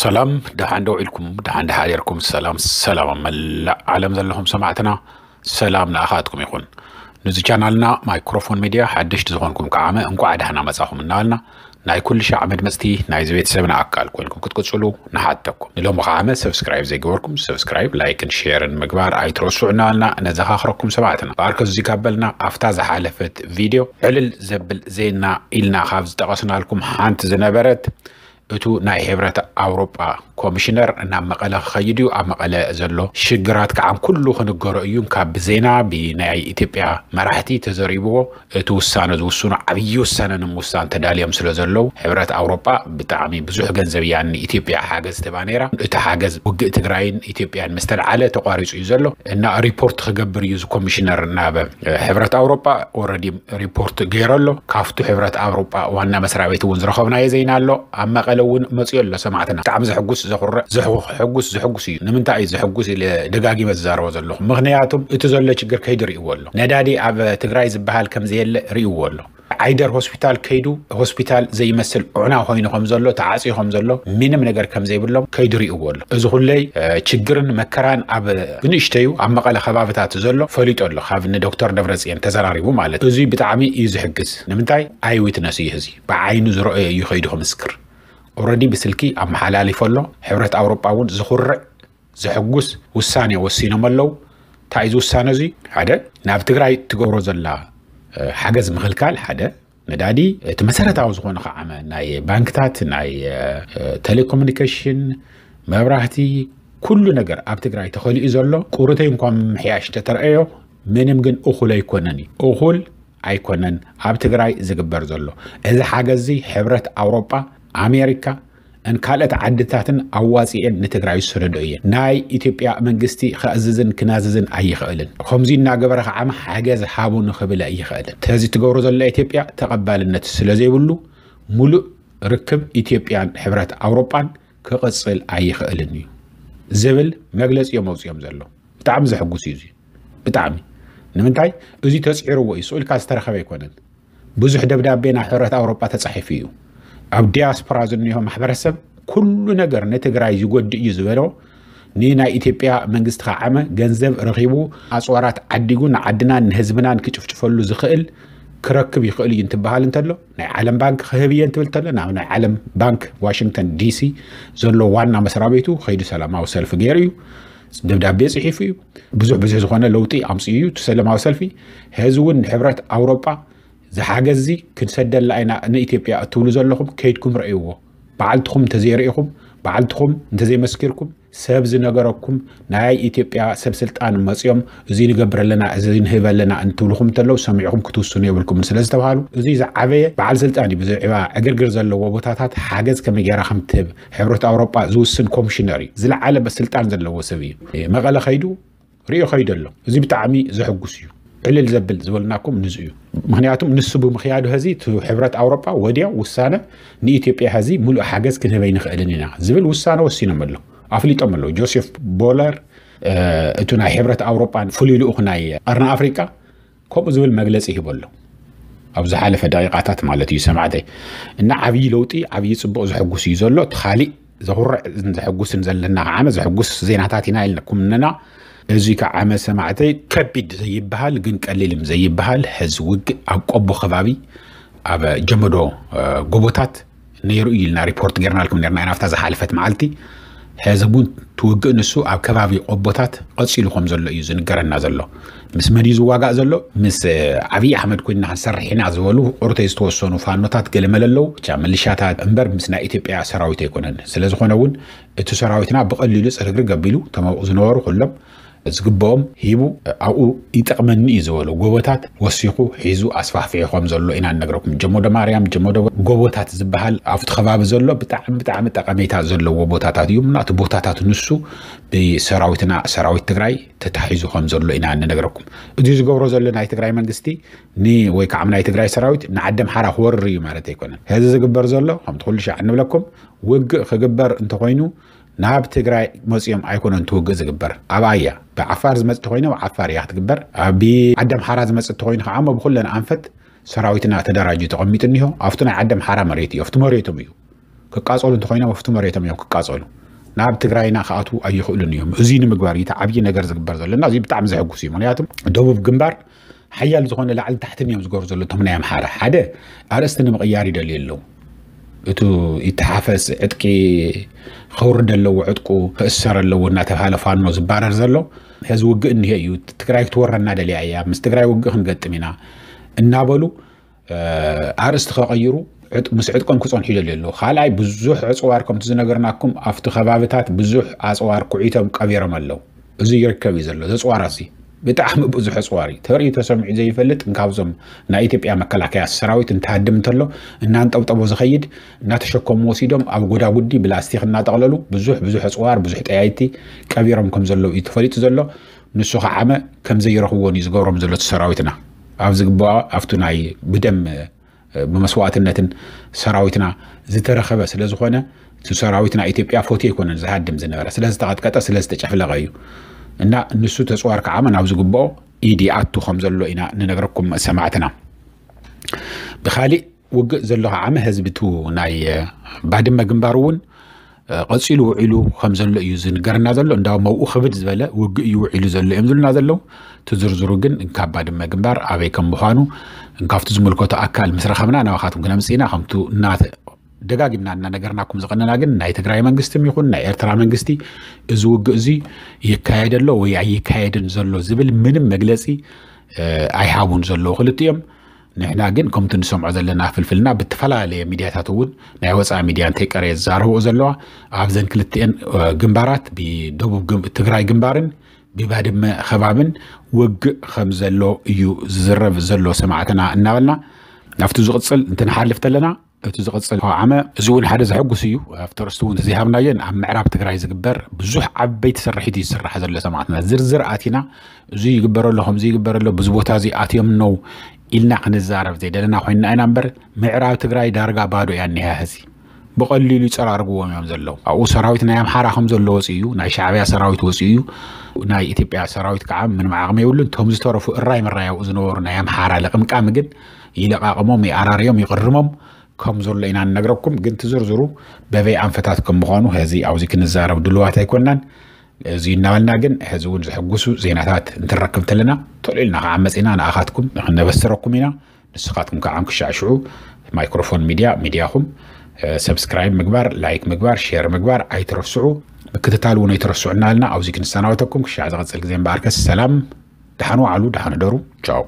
ሰላም፣ ደሓን ዶ ኢልኩም? ደሓን ደሓን ርኩም? ሰላም ሰላም፣ ኣብ መላእ ዓለም ዘለኹም ሰማዕትና፣ ሰላም ንኣኻትኩም ይኹን። ንዚ ቻናልና ማይክሮፎን ሚድያ ሓደሽቲ ዝኾንኩም ከዓመ እንኳዕ ደህና መጻኹም እናበልና፣ ናይ ኩሉ ሻዕ መድመጽቲ ናይዚ ቤተሰብና ኣካል ኮይንኩም ክትቅጽሉ ንሓተኩም። ንሎሚ ከዓመ ሰብስክራይብ ዘይገበርኩም ሰብስክራይብ፣ ላይክን ሼርን ምግባር ኣይትረስዑ እናበልና ነዘኻኽረኩም ሰማዕትና። ብኣርከ እዚ ካብ በልና፣ ኣብታ ዝሓለፈት ቪድዮ ዕልል ዘብል ዜና ኢልና ካብ ዝጠቐስናልኩም ሓንቲ ዝነበረት፣ እቱ ናይ ሕብረት ኣውሮጳ ኮሚሽነር ናብ መቐለ ክኸይድ እዩ። ኣብ መቐለ ዘሎ ሽግራት ከዓ ኩሉ ክንገሮ እዩ። ካብ ብዜና ብናይ ኢትዮጵያ መራሕቲ ተዘሪብዎ፣ እቲ ውሳነ ዝውስኑ ዓብዪ ውሳነ ንምውሳን ተዳልዮም ስለ ዘለዉ፣ ሕብረት ኣውሮጳ ብጣዕሚ ብዙሕ ገንዘብ እያ ንኢትዮጵያ ሓገዝ ትህባ ነይራ። እቲ ሓገዝ ውግእ ትግራይን ኢትዮጵያን ምስ ተልዓለ ተቋሪፁ እዩ ዘሎ እና ሪፖርት ክገብር እዩ እዚ ኮሚሽነር ናብ ሕብረት ኣውሮጳ። ኦረዲ ሪፖርት ገይሩ ኣሎ። ካብቱ ሕብረት ኣውሮጳ ዋና መስሪያ ቤት እውን ዝረኸብናዮ ዜና ኣሎ። ኣብ መቐለ እውን መፅኡ ኣሎ ሰማዕትና። ብጣዕሚ ዘሕጉስ ዘኹርዕ ዘሕጉስ ዘሕጉስ እዩ። ንምንታይ እዩ ዘሕጉስ ኢለ ደጋጊመ ዝዛረቦ ዘለኹ? ምኽንያቱም እቲ ዘሎ ችግር ከይዱ ርእይዎ ኣሎ። ነዳዲ ኣብ ትግራይ ዝበሃል ከም ዘየለ ርእይዎ ኣሎ። ዓይደር ሆስፒታል ከይዱ ሆስፒታል ዘይመስል ዑና ኮይኑ ከም ዘሎ፣ ተዓፅዩ ከም ዘሎ፣ ምንም ነገር ከም ዘይብሎም ከይዱ ርእይዎ ኣሎ። እዚ ኩለይ እ፣ ችግርን መከራን ኣብ ብንእሽተዩ ኣብ መቐለ ከባብታት ዘሎ ፈሊጡ ኣሎ፣ ካብ ንዶክተር ደብረፅየን ተዘራሪቡ ማለት እዩ። እዚ ብጣዕሚ እዩ ዝሕግዝ። ንምንታይ? ኣይ ዊትነስ እዩ፣ እዚ ብዓይኑ ዝረኣዮ እዩ ከይዱ ክምስክር። ኦረዲ ብስልኪ ኣመሓላሊፎ ኣሎ። ሕብረት ኣውሮጳ እውን ዝኹርዕ ዘሕጉስ ውሳኔ ወሲኖም ኣለዉ። እንታይ እዩ እዚ ውሳነ እዚ? ሓደ፣ ናብ ትግራይ ትገብሮ ዘላ እ፣ ሓገዝ ምኽልካል ሓደ፣ ነዳዲ፣ እቲ መሰረታዊ ዝኾነ ከዓ ናይ ባንክታት፣ ናይ እ፣ ቴሌኮሙኒኬሽን፣ መብራህቲ፣ ኩሉ ነገር ኣብ ትግራይ ተኸሊኡ ዘሎ ቁሩተይ እንኳ ምምሕያሽ ተተረኣዮ፣ ምንም ግን እኹል ኣይኮነን እዩ። እኹል ኣይኮነን ኣብ ትግራይ ዝግበር ዘሎ። እዚ ሓገዝ እዚ ሕብረት ኣውሮጳ፣ ኣሜሪካ፣ ን ካልኦት ዓድታትን ኣዋፂኤን ንትግራይ ዝሰደዶ እየን። ናይ ኢትዮጵያ መንግስቲ ከእዝዝን ክናዝዝን ኣይኽእልን። ከምዚ እናገበረ ከዓ ሓገዝ ሃቡ ንኽብል ኣይኽእልን። ተዚ ትገብሮ ዘላ ኢትዮጵያ ተቐባልነት ስለ ዘይብሉ፣ ሙሉእ ርክብ ኢትዮጵያን ሕብረት ኣውሮጳን ክቕፅል ኣይኽእልን እዩ ዝብል መግለፂ እዮም ኣውፂኦም ዘሎ። ብጣዕሚ ዘሕጉስ እዩ እዚ። ብጣዕሚ። ንምንታይ? እዚ ተፅዒርዎ እዩ። ስቕ ኢልካ ዝተረኸበ ኣይኮነን። ብዙሕ ደብዳቤ ናብ ሕብረት ኣውሮጳ ተፃሒፉ እዩ። ኣብ ዲያስፖራ ዝኒሆ ማሕበረሰብ ኩሉ ነገር ንትግራይ ዝጎድእ እዩ ዝበሎ፣ ንናይ ኢትዮጵያ መንግስቲ ከዓመ ገንዘብ ረኺቡ፣ ኣፅዋራት ዓዲጉ ንዓድናን ንህዝብናን ክጭፍጭፈሉ ዝኽእል ክረክብ ይኽእል እዩ እንትበሃል እንተሎ፣ ናይ ዓለም ባንክ ክህብ እየ እንትብል እንተሎ፣ ናብ ናይ ዓለም ባንክ ዋሽንግተን ዲሲ ዘሎ ዋና መስሪያ ቤቱ ከይዱ ሰላማዊ ሰልፊ ገይሩ እዩ። ደብዳቤ ጽሒፉ እዩ። ብዙሕ ብዙሕ ዝኾነ ለውጢ ኣምጽኡ እዩ እቲ ሰላማዊ ሰልፊ። ሕዚ እውን ንሕብረት ኣውሮጳ ዝሓገዝ እዚ ክንሰደላ ኢና ንኢትዮጵያ እትብሉ ዘለኹም ከይድኩም ረእይዎ። በዓልትኹም እንተዘይረኢኹም፣ በዓልትኹም እንተዘይመስኪርኩም፣ ሰብ ዝነገረኩም ናይ ኢትዮጵያ ሰብ ስልጣን መጽዮም እዚ ንገብር ኣለና፣ እዚ ንህብ ኣለና እንትብልኹም እንተለዉ ሰሚዕኹም ክትውስኑ የብልኩምን ስለ ዝተባሃሉ፣ እዚ ዝዓበየ በዓል ስልጣን እዩ። ብዛዕባ ዕግርግር ዘለዎ ቦታታት ሓገዝ ከመይ ጌራ ከም ትህብ ሕብረት ኣውሮጳ ዝውስን ኮሚሽነር እዩ። ዝለዓለ ስልጣን ዘለዎ ሰብ እዩ። መቐለ ከይዱ ሪኦ ከይዱ ኣሎ። እዚ ብጣዕሚ ዘሕጉስ እዩ። ዕልል ዘብል ዝበልናኩም ንሱ እዩ። ምኽንያቱም ንሱ ብምኽያዱ ሕዚ እቲ ሕብረት ኣውሮጳ ወዲያው ውሳነ ንኢትዮጵያ ሕዚ ሙሉእ ሓገዝ ክንህብ ኣይንኽእልን ኢና ዝብል ውሳነ ወሲኖም ኣለዉ፣ ኣፍሊጦም ኣለዉ። ጆሴፍ ቦለር፣ እ፣ እቱ ናይ ሕብረት ኣውሮጳን ፍሉይ ልኡኽ ናይ ቀርኒ ኣፍሪቃ ከምኡ ዝብል መግለጺ ሂቡ ኣሎ። ኣብ ዝሓለፈ ደቂቃታት ማለት እዩ ሰማዕተይ። እና ዓብዪ ለውጢ፣ ዓብዪ ጽቡቕ ዘሕጉስ እዩ ዘሎ። እቲ ካሊእ ዘኹርዕ ዘሕጉስን ዘለና ከዓነ ዘሕጉስ ዜናታት ኢና ኢልኩም እነና። እዚ ከዓመ ሰማዕተይ ከቢድ ዘይበሃል ግን ቀሊልም ዘይበሃል ሕዚ ውግእ ኣብ ቆቦ ከባቢ ኣብ ጀመዶ፣ እ፣ ጎቦታት ነይሩ እዩ ኢልና ሪፖርት ጌርናልኩም ኔርና ኢና። ኣብታ ዝሓለፈት መዓልቲ ሕዚ እውን ትውግእ ንሱ ኣብ ከባቢ ቆቦታት ቀጺሉ ከም ዘሎ እዩ ዝንገረና ዘሎ። ምስ መን እዩ ዝዋጋእ ዘሎ? ምስ፣ እ፣ ዓብዪ ኣሕመድ ኮይንና ክንሰርሕ ኢና ዝበሉ ቁሩተይ ዝተወሰኑ ፋኖታት ገለመለ ኣለዉ። ብቻ ሚሊሻታት እምበር ምስ ናይ ኢትዮጵያ ሰራዊት ኣይኮነን። ስለ ዝኾነ እውን እቲ ሰራዊትና ብቐሊሉ ጽርግርግ ኣቢሉ እቶም ኣብኡ ዝነበሩ ኩሎም ዝግብኦም ሂቡ ኣብኡ ይጠቕመኒ እዩ ዝበሎ ጎቦታት ወሲኹ ሒዙ ኣስፋሕፊሑ ከም ዘሎ ኢና ንነግረኩም። ጀሞዶ ማርያም፣ ጀሞዶ ጎቦታት ዝበሃል ኣብቲ ከባቢ ዘሎ ብጣዕሚ፣ ብጣዕሚ ጠቐሜታ ዘለዎ ቦታታት እዩ። እና እቲ ቦታታት ንሱ ብሰራዊትና፣ ሰራዊት ትግራይ ተታሒዙ ከም ዘሎ ኢና ንነግረኩም። እዚ ዝገብሮ ዘሎ ናይ ትግራይ መንግስቲ ን-፣ ወይ ከዓ ናይ ትግራይ ሰራዊት ንዓዲ ኣምሓራ ክወርር እዩ ማለት ኣይኮነን። ሕዚ ዝግበር ዘሎ ከምቲ ኩሉ ሻዕ እንብለኩም ውግእ ክግበር እንተኾይኑ ናብ ትግራይ መፂኦም ኣይኮነን እቲ ውግእ ዝግበር። ኣብኣ እያ። ብዓፋር ዝመፅእ ተኾይኑ ኣብ ዓፋር እያ ክትግበር። ኣብ ዓዲ ኣምሓራ ዝመፅእ ተኾይኑ ከዓ እሞ ብኩለን ኣንፈት ሰራዊትና ተደራጅዩ ተቐሚጡ እኒሆ። ኣብቲ ናይ ዓዲ ኣምሓራ መሬት እዩ። ኣብቲ መሬቶም እዩ። ክቃጸሉ እንተኾይኖም ኣብቲ መሬቶም እዮም ክቃጸሉ። ናብ ትግራይና ክኣትዉ ኣይኽእሉን እዮም። እዚ ንምግባር እዩ እቲ ዓብዪ ነገር ዝግበር ዘሎ እና እዚ ብጣዕሚ ዘሐጉስ እዩ። ምክንያቱ ደቡብ ግንባር ሓያል ዝኾነ ላዕሊ ታሕትን እዮም ዝገብሩ ዘሎ እቶም ናይ ኣምሓራ። ሓደ ኣርእስቲ ንምቕያር ይደልዩ ኣለዉ። እቱ ይተሓፈስ ዕጥቂ ከውርድ ኣለዎ፣ ዕጥቁ ክእሰር ኣለዎ እናተባሃለ ፋኖ ዝባረር ዘሎ። ሕዚ ውግእ እኒሄ እዩ፣ ትግራይ ክትወረና ደልያ እያ፣ ምስ ትግራይ ውግእ ክንገጥም ኢና እናበሉ ኣርእስቲ ከቐይሩ ምስ ዕጥቆም ክፀንሑ ይደልዩ ኣለዉ። ካልኣይ ብዙሕ ዕፅዋር ከምቲ ዝነገርናኩም ኣብቲ ከባብታት ብዙሕ ኣፅዋር ኩዒቶም ቀቢሮም ኣለዉ። እዚ ይርከብ እዩ ዘሎ ዘፅዋር እዚ ብጣዕሚ ብዙሕ ኣፅዋር እዩ ተርእዩ ተሰሚዑ ዘይፈልጥ። እንካብዞም ናይ ኢትዮጵያ መከላከያ ሰራዊት እንተሃድም እንተሎ እናንጠብጠቦ ዝኸይድ እናተሸከሙ ወሲዶም ኣብ ጎዳጉዲ ብላስቲክ እናጠቕለሉ ብዙሕ ብዙሕ ኣፅዋር ብዙሕ ጠያይቲ ቀቢሮም ከም ዘለዉ እዩ ተፈሊጡ ዘሎ። ንሱ ከዓመ ከም ዘይረኽብዎን እዩ ዝገብሮም ዘሎ እቲ ሰራዊትና ኣብ ዝግባኦ ኣብቱ ናይ ብደም ብመስዋእትነትን ሰራዊትና ዝተረኸበ ስለ ዝኾነ እቲ ሰራዊት ናይ ኢትዮጵያ ፎቶ ኣይኮነን ዝሃድም ዝነበረ ስለ ዝተቐጥቀጠ ስለ ዝተጨፍለቐ እዩ። እና ንሱ ተፅዋር ከዓመ ናብ ዝግባኦ ኢድ ይኣቱ ከም ዘሎ ኢና ንነግረኩም ሰማዕትና። ብካሊእ ውግእ ዘሎ ከዓመ ህዝቢ እቲ ናይ ባድመ ግንባር እውን ቀፂሉ ውዒሉ ከም ዘሎ እዩ ዝንገርና ዘሎ። እንዳውም ኣብኡ ክብድ ዝበለ ውግእ እዩ ውዒሉ ዘሎ እዮም ዝብሉና ዘለዉ። እቲ ዝርዝሩ ግን ካብ ባድመ ግንባር ኣበይ ከም ምዃኑ ካብቲ ዝምልከቶ ኣካል ምስ ረኸብና ናባኻትኩም ክነምፅእ ኢና። ከምቱ እናተ ደጋጊምና እናነገርናኩም ዝቐነና ግን ናይ ትግራይ መንግስቲ ይኹን ናይ ኤርትራ መንግስቲ እዚ ውግእ እዚ ይካየድ ኣሎ ወይ ኣይካየድን ዘሎ ዝብል ምንም መግለፂ ኣይሃቡን ዘለዉ ክልቲኦም። ንሕና ግን ከምቲ ንሰምዖ ዘለና ፍልፍልና ብተፈላለየ ሚድያታት እውን ናይ ወፃኢ ሚድያ እንተይቀረየ ዝዛረብኦ ዘለዋ ኣብዘን ክልቲኤን ግንባራት ብደቡብ ትግራይ ግንባርን ብባድመ ከባብን ውግእ ከም ዘሎ እዩ ዝዝረብ ዘሎ ሰማዕትና እናበልና ናብቲ ዝቕፅል እንትንሓልፍ ተለና እቲ ዝቕፅል ዓመ እዚ እውን ሓደ ዘሐጉስ እዩ። ኣብቲ ርስቲ እውን ዘይሃብናዮን ኣብ ምዕራብ ትግራይ ዝግበር ብዙሕ ዓበይቲ ስርሒት እዩ ዝስራሕ ዘሎ ሰማዕትና ዝርዝር ኣቲና እዚ ይግበረሎ ከምዚ ይግበረሎ ብዙ ቦታ እዚ ኣትዮም ነው ኢልና ክንዛረብ ዘይደለና ኮይንና ኢና እምበር ምዕራብ ትግራይ ዳርጋ ባዶ እያ እኒሃ ህዚ ብቐሊሉ ይፀራርግዎም እዮም ዘለዉ። ኣብኡ ሰራዊት ናይ ኣምሓራ ከም ዘሎ ወፂኡ እዩ ናይ ሻዕብያ ሰራዊት ወፂኡ እዩ። ናይ ኢትዮጵያ ሰራዊት ከዓ ምንም ዓቕሚ የብሉን። እቶም ዝተረፉ እራይ ምራይ ኣብኡ ዝነበሩ ናይ ኣምሓራ ልቕምቃሚ ግን ይለቓቕሞም ይኣራርዮም ይቕርሞም ከም ዘሎ ኢና ንነግረኩም። ግን ትዝርዝሩ በበይ ኣንፈታት ከም ምዃኑ ሕዚ ኣብዚ ክንዛረብ ድልዋት ኣይኮናን። እዚ እናበልና ግን ሕዚ እውን ዘሐጉሱ ዜናታት እንትንረክብ እንተለና ቶሎ ኢልና ከዓ መፂና ንኣኻትኩም ነበስረኩም ኢና። ንስኻትኩም ከዓ ክሻዕሽዑ ማይክሮፎን ሚድያ ሚድያኹም ሰብስክራይብ ምግባር ላይክ ምግባር ሼር ምግባር ኣይትረስዑ። ምክትታል እውን ኣይትረስዑ እናበልና ኣብዚ ክንሰናበተኩም ክሻዕ ዝቐፅል ግዜ እምበኣርከስ ሰላም ደሓን ዋዕሉ ደሓን ደሩ። ቻው።